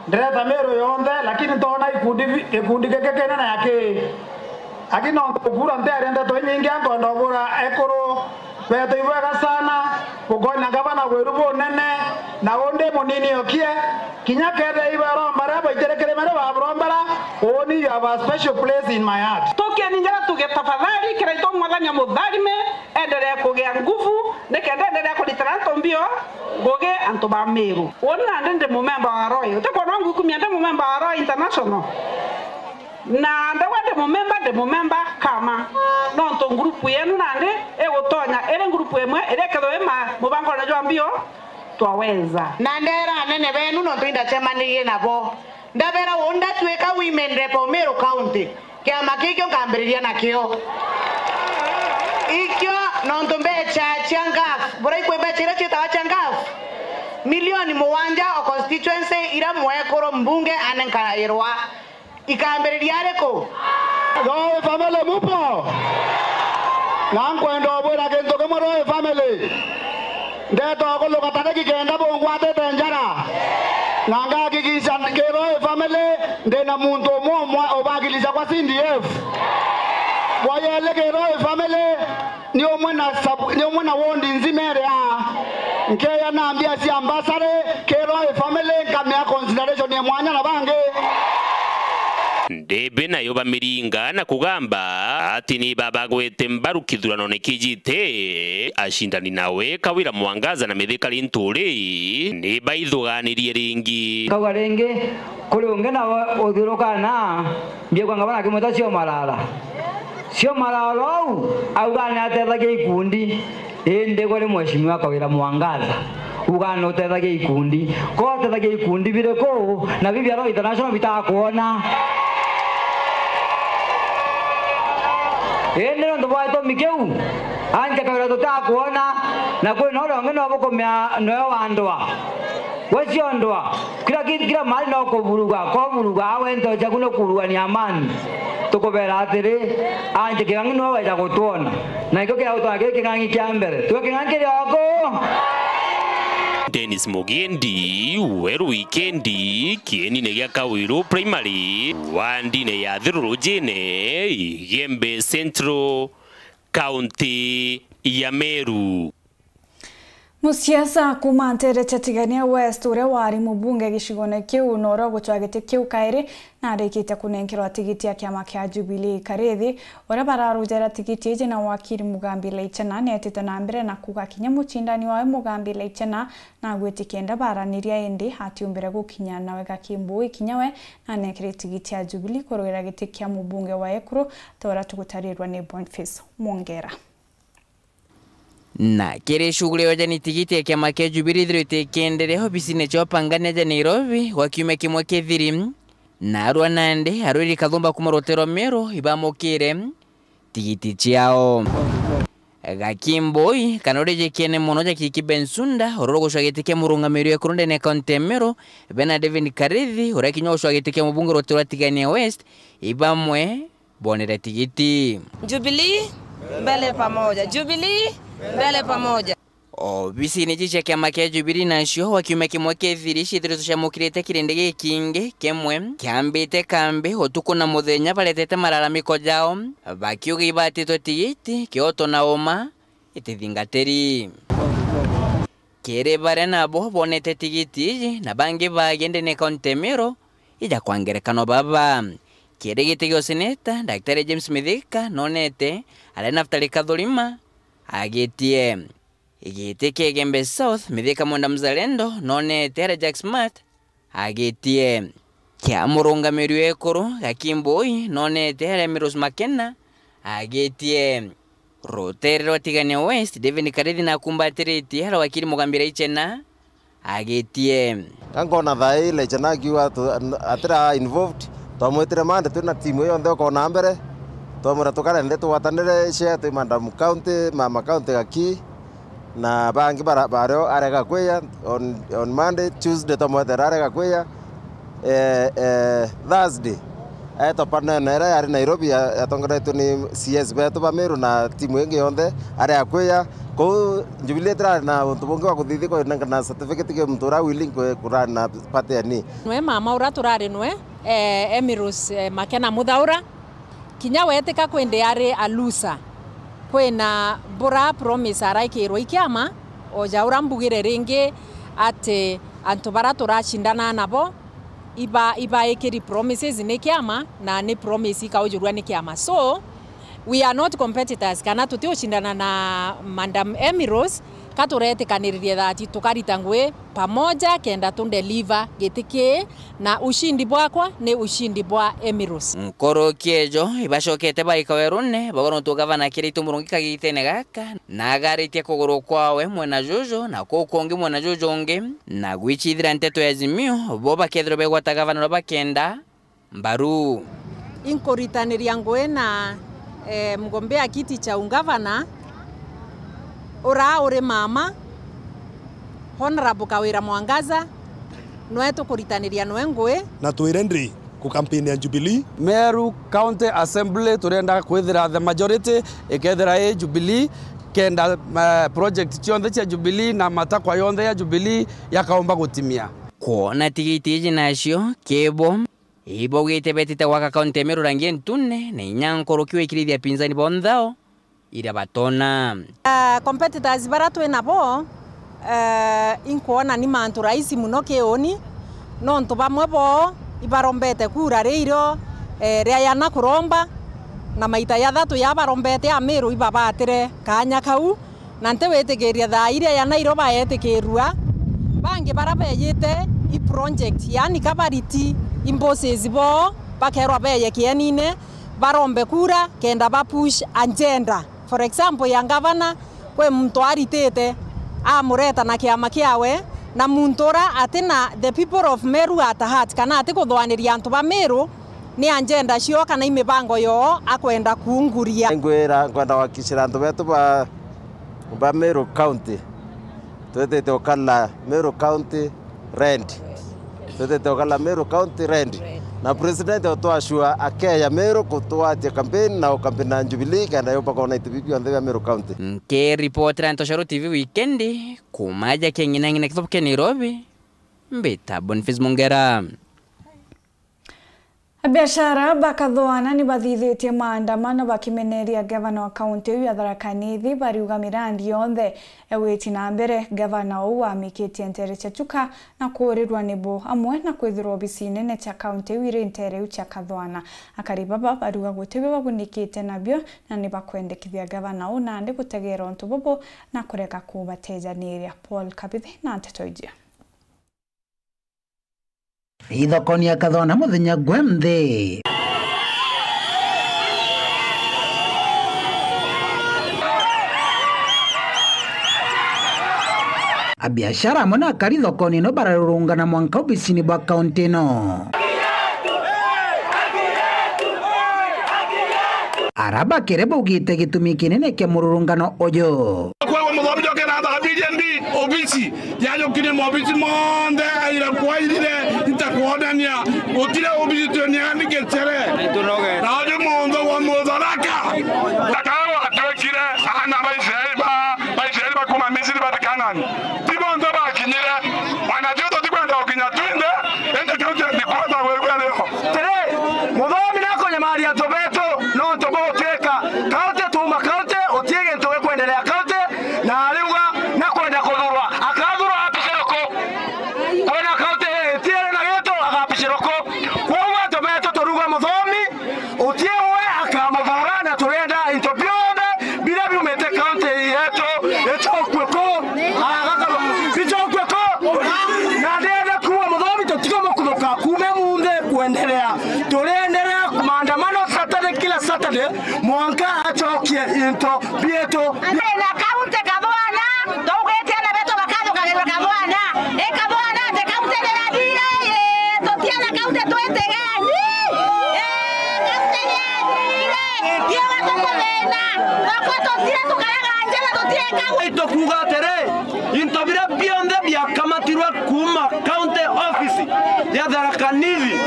Ndireta Miru yonthe, lakini ntona ikundi bi-, gikundi giki kinene aki. Aki nontu kura ntiari ndeto inyingi, ankwenda ubura ekuru betu ibwega sana, bukonya ngavana gwiru bunene, na undi munini okie, kinya kethira ibaromba ria baitire kiri mere baburombera, uuni you have a special place in my heart. Tukieni njara tuge tafadhali, Kiraitu Mwathani amutharime, endelee kugia nguvu, nikenda endelee kuritira antu mbio ngugi antu ba Miru. Uuni nandi ndi mumemba wa Roy. Utikwona ngukumia ndi mumemba wa Roy International? Na ndauga ndi mumemba, ndi mumemba kama. Nontu ngurupu yenu nandi igutonya iri ngurupu imwe iria ikethirwa i ma-, mubangone jwa mbio Twaweza. Na ndera anene benu nontu indacemanirie nabo. Ndabera uu ndatuika women rep o Meru County. Kiama kikio nkambiriria nakio. Ikio nontu mbecha cia ngaf, burai kwi mbecha iria ciitawa cia ngaf? Milioni mugwanja o constituency iria mwekuru mbunge anenkairwa. Ikambiriria ariku? Roy family mupo? Na nkwenda ubwira kintu kimwe Roy family. Ndeta ukuluka tariki kenda bungwatite njara. Na ngahakikisha ki Roy family ndina muntu umwe umwe ubakilisha kwa C D F. Bwa yeli ki Roy family, ni umwe na sub-, ni umwe na ward nzima iri aa. Nkeya na mbia cia mbasari, ki Roy family, nkamea consideration ya mwanya na bangi. Ndebe nayo bamiringa na kugamba ati ni babagwete mbaru kithuranone kijite, acindani nawe Kawira Mwangaza na Mithika Linturi ni baithuganirie ringi. Kauga ringi, kuri ungi nawe uthiuruka na Mbiegua ngavana akimwita Cio Malala. Cio Malala uu auga ni atethagia ikundi, indi gwe ni Mheshimiwa Kawira Mwangaza uga ni utethagia ikundi. Ko utethagia ikundi biriku na bibi Roy International bitakwona? Indi nontu bwa gitumi kiu, anje Kawira tutakwona, na kwina uria ungi no bukumea noe wa ndwa. We cio ndwa. Kila ki-, kila mahali no kuvuruga, ko vuruga, awe nto ciaku no kuvuruga ni amani. Tukubera atiri, anje King'ang'i niwe weja gutwona. Na nikio kiria gutwona kiri King'ang'i kia mbere. Twe King'ang'i kiri oku. Dennis Mugendi, Weru Wikendi, kienine gia Kawiru Primary, wandine ya Thirurujine, Igembe Central, kaunti ya Meru. Musiasa kuuma nteere cia Tigania West, uria wari mubunge gicigone kiu na uria ugucwa giti kiu kairi, na arikitie kunenkerwa tigiti ya kiama kia Jubilee Karithi, uria bararujera tigiti iji na wakiri Mugambi Laichena, nietite na mbere na kuuga kinya mucindani wawe Mugambi Laichena nagwiti kenda baraniria, indi atiumbire gukinya nawe Gakimbui kinya we nanenkere tigiti ya Jubilee kurugira giti kia mubunge wa Ekuru, ta uria tugutarirwa ni Boniface Mwongera. Na kiri shughuli ya ujani tigiti ya kiama kia Jubilee ithirite ikienderea obisine cia upangania ja Nairobi gwa kiumia kimwe kithiri, narua nandi arwiri kathumba kuuma rutere rwa Meru ibamukire tigiti ciao. Gakimbui, kana uria jikiene mono ja Kiki Bensouda, uria ugucwa giti kia murungamiri wa Ekuru ndene ya kaunti ya Meru, bena David Karithi, uria kinya ugucwa giti kia mubunge rutere rwa Tigania West, ibamwe bonere tigiti. Jubilee, mbele pamoja. Jubilee, mbele pamoja. Obisine iji cia kiama kia Jubilee nacio gwa kiumia kimwe kithiri ciithiritwe ciamukirite kirindi gikingi kimwe kiambite kambi utuku na muthenya baretete malalamiko jao, bakiuga ibatitwe tigiti, kioto na uma itithingatiri. Kiri baria nabo bonete tigiti iji na bangi baagi ndene kaunti ya Meru, ija kwa ngerekano baba. Kiri giti gia useneta, Daktari James Mithika nonete, aria Naftali Kathurima agitie. Giti kia Igembe South, Mithika Mwenda Mzalendo nonete, aria Jack Smart agitie. Kia murungamiri wa Ekuru, Gakimbui nonete, aria Miros Makena agitie. Rutere rwa Tigania West, David Karithi nakumbatiritie, aria wakiri Mugambi Laichena agitie. Ka nkona thaa ii Laichena akiuga atu-, atira involved, twamwitire Monday twina timu ii yonthe ukona mbere, twamwira tukare nthi tugwatanire share twi Madam County, Mama County Gaki, na bangi bara-, bario arega kwiya on, on Monday, Tuesday twamwetera arega kwiya, eh, eh, Thursday, etwa panel ira yari Nairobi ya-, yatongeretwe ni C S betu ba Meru na timu ingi yonthe, aria akwiya. Kou Jubilee itirari na untu bungi wa kuthithia kwinengana certificate ki muntu uria willing ku-, kurani na party ya ni. Nwe mama uria turari nwe, eh, Emirus, eh, Makena Muthaura, kinya wetika kwindi ari a loser. Kwina bura promise araikirwe i kiama, o ja uria mbugire ringi ati antu baria turacindana nabo, iba-, ibaikiri promises ni kiama, na ni promise ikaujurua ni kiama. So, we are not competitors, kana tutiucindana na Madam Emmy Rose, ka turetikaniririe that tukarita ngui pamoja kenda tu deliver giti kii, na ushindi bwakwa ni ushindi bwa Emmy Rose. Nkuruki ejo, ibacokete baika werune, bagwa nontu gavana akirite murungi kagitene gaka, na agaritie kuguru kwawe mwena juju, na kuu kungi mwena juju ungi, na gwicithira nteto ya Azimio, bo bakethirwa begwata gavana uria bakenda mbaru. Inkuritaniria ngui na, eh, mgombea kiti cha ungavana, uria uri mama, Honorable Kawira Mwangaza, nwe tukuritaniria nwe ngui. Na twire ndi ku campaign ya Jubilee. Meru County Assembly turenda kwithira the majority ikethira i Jubilee, kenda, eh, project cionthe cia Jubilee na matakwa yonthe ya Jubilee yakaumba gutimia. Kwona tigiti iji nacio kibo, ibaugite betite gwaka kaunti ya Meru rangi ntune, na inya nkuruki wikirithia pinzani bo nthao iria batona. Ah, competitors baria twi nabo, eh, inkwona ni mantu rahisi muno kiuni, nontu bamwe boo ibarombete kura riirio, eh, riayana kuromba, na maita ya thatu ya barombete Amiru ibabatire kaanya kau, na ntiwitikiria thaa iria ya Nairobi baetikirua, bangi baria beyite i project, yaani kabariti i bosses boo, bakerwa beye kienine, barombe kura kenda ba push agenda. For example, ya ngavana, kwi muntu aritite, amureta na kiama kiawe, na muntu uria atina the people of Meru at heart, kana atikuthwaniria antu ba Meru, ni agenda cio kana i mibango yoo akwenda kuunguria. Ngwira, nkwenda gwakishira antu betu ba, ba Meru County, twitite ukala Meru County red. Twitite ukala Meru County red. Na President utwashua akeya Meru kutwatia campaign na ukampeni na Jubilee, kenda yo bakona itu bibi bionthe bia Meru County. Nkiripotera Ntoshoro T V Weekend, kuuma ja king'inang'ina kithubu kia Nairobi, mbita Boniface Mongera. Abiashara ba Kathwana ni bathithitie maandamano bakimeneria gavana wa kaunti iu ya Tharaka Nithi, bariuga mirandi yonthe egwiti na mbere. Gavana uu wamikitie ntere cia Chuka na kuurirwa ni bo, amwe na kwithirwa obisi nene cia kaunti iu iri ntere iu cia Kathwana. Akari baba bariuga guti bio babunikite nabio na ni bakwendekithia gavana uu nandi gutegeera untu bubu na kurega kubatejaniria. Paul Kabithi na nteto iji. Ithokoni ya Kathwana muthenya gwe nthi. Abiashara amwe na akari thokoni ino bararurungana mwanka obisini bwa kaunti ino. Ara bakere baugite gitumi kinene kia mururungano uju. Kwagwa muthomi njoke na thabirie ndi obisi. Yajukirie mobisi monthe aira kwairire, ntakwonania gutire obisi tweniaga ni gicere. Na uju munthu wa Mutharaka. Akao atwekire ana ba Israeli ba, ba Israeli bakuma Misiri bati Kanani. Ti bonthe bakinyire. Wana cio tutikwenda gukinya twinthe, indi kiu kindi kwenda gwikwa rio. Tiri, muthomi nakunyamaria antu betu, nontu bugutwika kaunti tuuma kaunti, utie gintu gikwenderea kaunti, na ariuga nakwenda kuthurwa. Akathurwa apicire ku? Kwina kaunti itiere na gitu, agapicirwa ku? Kwoguo antu betu turuga muthomi, utie we akamuthuura, na turenda into bionthe biria biumite kaunti yetu icokue ku? Agakama, bicokue ku? Na ndenda kuuga muthomi, tutiga mukuthuka kuuma munthi kuenderea. Turienderea maandamano Saturday, kila Saturday, mwanka acokie into bietu. Ndina kaunti Kathwana, tugwite ana betu bakathukagirwa Kathwana. I Kathwana ati kaunti ni yathire, ii, tutiana kaunti twitigeni. Ii, kaunti ni yathire, tiuga tukuthina. Nakwa tutire tukaraga njara, tutieka. Itukuuga atiri, into biria bionthe biakamatirwe kuuma county office ya Tharaka Nithi,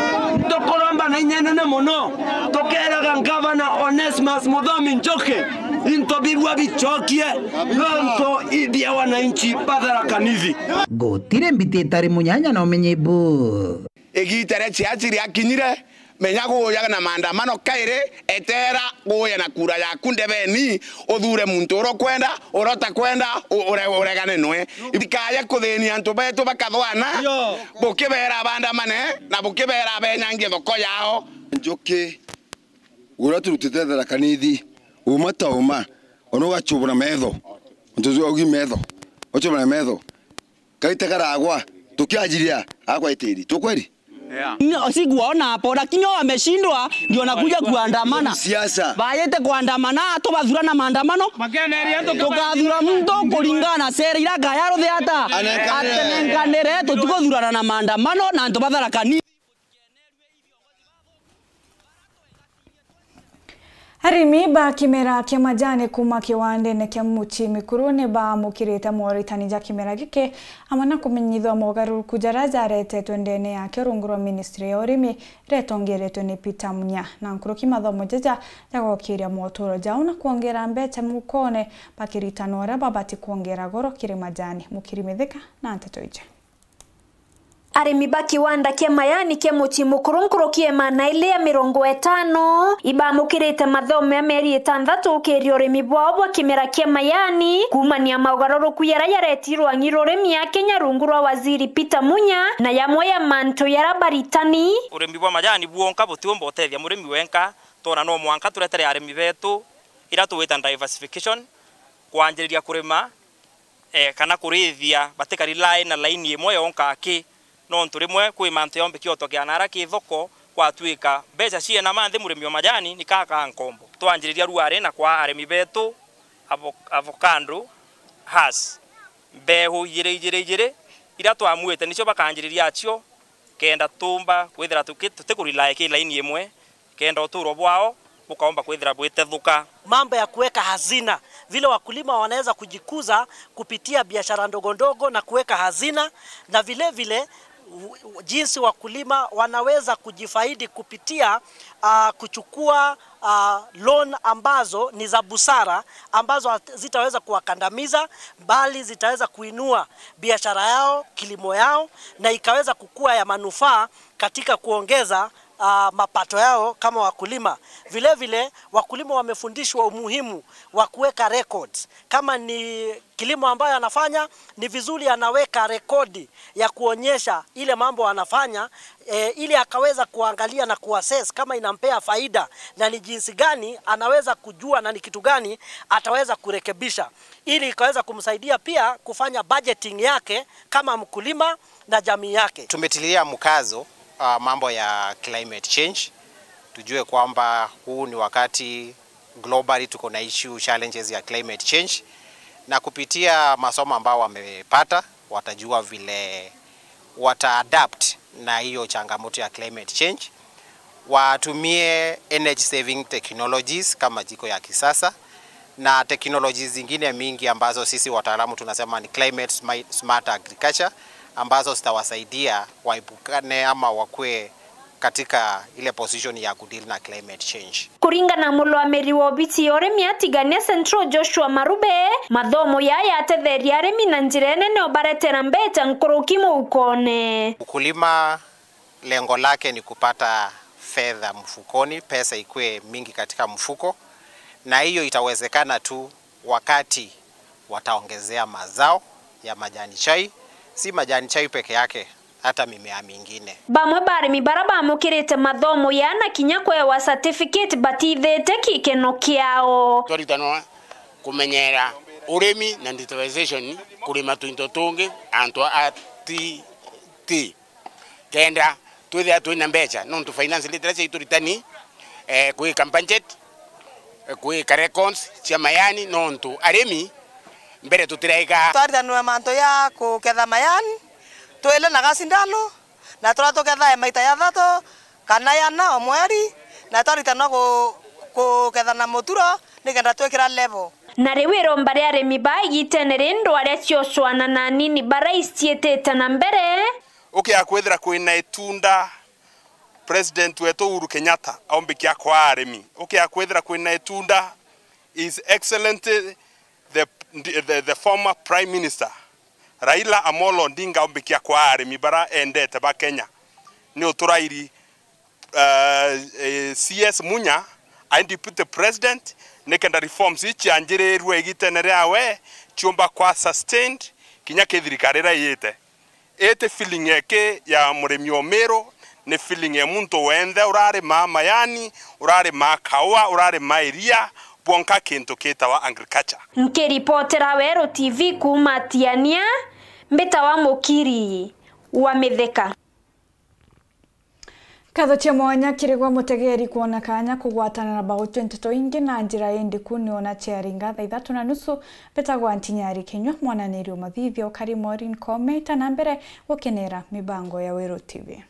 tukuromba na inya inene mono, tukeeraga Ngavana Onesmus Muthomi Njuki, into bibua bicokie, nontu ibia wananchi ba Tharaka Nithi. Gutiri mbiti itari munyanya na umenyi bu. Igiita ria ciaci riakinyire, menya guuja na maandamano kairi, eteera guuja na kura yaku ndebeni, uthuure muntu uria ukwenda, uria utakwenda, u-, ure-, uregane nwe. Itikaye kuthinia antu betu bakathwana, bukibeera bandamane, na bukibeera benyangie thoko yao. Njuki, uria turutite Tharaka Nithi, uma ta uma, ona ugachubura metho, untu ucio augi metho, uchubura metho, kaite karagwa, tukiajiria, agwa itiri. Tu kweli? Yeah. Ni-, sikuwaona hapo, lakini wao wameshindwa, ndio wanakuja kuandamana. Siasa. Bayete kuandamana, tubathura na maandamano. Tukathura muntu kulingana na sera ira gayaruthe ata. Anenkanire. Atenenkanire, tutikuthurana na maandamano, na antu ba Tharaka Nithi. Arimi ba kimera kia majani kuuma kiwandene kia Muchi Mikuru ni baamukirite moritani ja kimera giki, amwe na kumenyithua mogaruruku jaria jaretetwe ndene yake rungu rwa ministry ya urimi iria itongeretwe ni Peter Munya. Na nkuruki mathomo jaja jagokiria moturo jao na kwongera mbeca mukone, bakiritana uria babati kwongera goro kiri majani. Mukiri Mithika na nteto iji. Arimi ba kiwanda kia majani kia Muchi Mukuru nkuruki ya magana jairi ya mirongo itano ibamukirite mathomo ya mieri itanthatu ukiria urimi bwao bwa kimera kia majani, kuumania maugaruruku jaria jaretirwe ang'i rurimi ya Kenya rungu rwa Waziri Peter Munya, na jamwe ya mantu jaria baritani. Urimi bwa majani bwonka butiumba utethia murimi wenka, twona no mwanka turetere arimi betu ira tugwita diversification, kwanjiriria kurima eh, kana kurithia batikari line na laini imwe yonka aki, nontu rimwe kwi mantu yombiki otokea nara ki thoko, kwatwika mbeca ciena manthi murimi wa majani ni kaka nkombo. Twanjiriria ruari na kwa arimi betu, avo-, avocado, has, mbehu ijiri ijiri ijiri, ira twamwite nicio bakanjiriria acio, kenda tumba kwithira tuki-, tutikurilai ki laini imwe, kenda uturo bwao bukaomba kwithira bwitethuka. Mambo ya kuweka hazina, vile wakulima wanaweza kujikuza kupitia biashara ndogo ndogo na kuweka hazina, na vile vile jinsi wakulima wanaweza kujifaidi kupitia, ah, kuchukua, ah, loan ambazo ni za busara, ambazo hat-, zitaweza kuwakandamiza, bali zitaweza kuinua biashara yao, kilimo yao, na ikaweza kukua ya manufaa katika kuongeza, ah, mapato yao kama wakulima. Vile vile, wakulima wamefundishwa umuhimu wa kuweka records. Kama ni kilimo ambayo anafanya, ni vizuri anaweka rekodi ya kuonyesha ile mambo anafanya, eh, ili akaweza kuangalia na kuassess kama inampea faida na ni jinsi gani anaweza kujua na ni kitu gani ataweza kurekebisha, ili ikaweza kumsaidia pia kufanya budgeting yake kama mkulima na jamii yake. Tumetilia mkazo, ah, mambo ya climate change. Tujue kwamba huu ni wakati globally tuko na issue, challenges ya climate change, na kupitia masomo ambao wamepata, watajua vile wata adapt na hiyo changamoto ya climate change. Watumie energy saving technologies kama jiko ya kisasa na technologies zingine mingi ambazo sisi wataalamu tunasema ni climate smi-, smart agriculture, ambazo zitawasaidia waepukane ama wakue katika ile position ya kudeal na climate change. Kuringana na murungamiri wa obisi ya urimi ya Tigania Central, Joshua Marube, mathomo yaya yatetheria arimi na njira inene ubaretera mbeca nkuruki mufukone. Ukulima lengo lake ni kupata fedha mfukoni, pesa ikue mingi katika mfuko, na hiyo itawezekana tu wakati wataongezea mazao ya majani chai, si majani chai peke yake, hata mimea mingine. Bamwe ba arimi bara bamukirite mathomo ya na kinya kwewa certificate batithite gikeno kiao. Twaritanwa kumenyera urimi na digitalization, kurima twinto tungi antu a ti, ti kenda twithira twina mbeca, nontu finance literacy ituritani, eh, kwika budget, eh, kwika records cia mayani, nontu arimi mbere tutiraika. Twaritanwe mantu ya kuketha mayani, twile na gacindano, na turia tukethae maita jathatu kana jana o mweri, na twaritanwa ku-, kuketha na muturo nikenda twikira level. Na riu iromba ria arimi ba igitene ri ndwari ciocwana na anini bara iciitite na mbere. Ukia kwithira kwina itunda, President wetu Uhuru Kenyatta aumbikia kwa arimi. Ukia kwithira kwina itunda, His Excellency the, the, the former Prime Minister Raila Amolo Odinga aumbikia kwa arimi bara endete ba Kenya. Ni uturairi, uh, eh, C S Munya ai Deputy President, nikenda reforms ici cianjirirwe igitene riawe ciumba kwa sustained kinya ki thirikari iria iyite. Iti feeling eki ya murimi o Miru, ni feeling ya muntu wenthe urarimaa mayani, urarimaa kaua, urarimaa iria, bwonka kintu kitawa agriculture. Nkiripotera Weru T V kuuma Tiania, mbitawa Mukiri wa Mithika. Nkatho cia mwanya kiri gwe mutegeri kwona kanya kugwatana na bagutwe nteto ingi na njira indiku. Ni ona ciaringa thaa ithatu na nusu, mbitagwa Ntinyari Kinyua, mwananiri o mathithio ukari Maureen Kome, ita na mbere gukenera mibango ya Weru T V.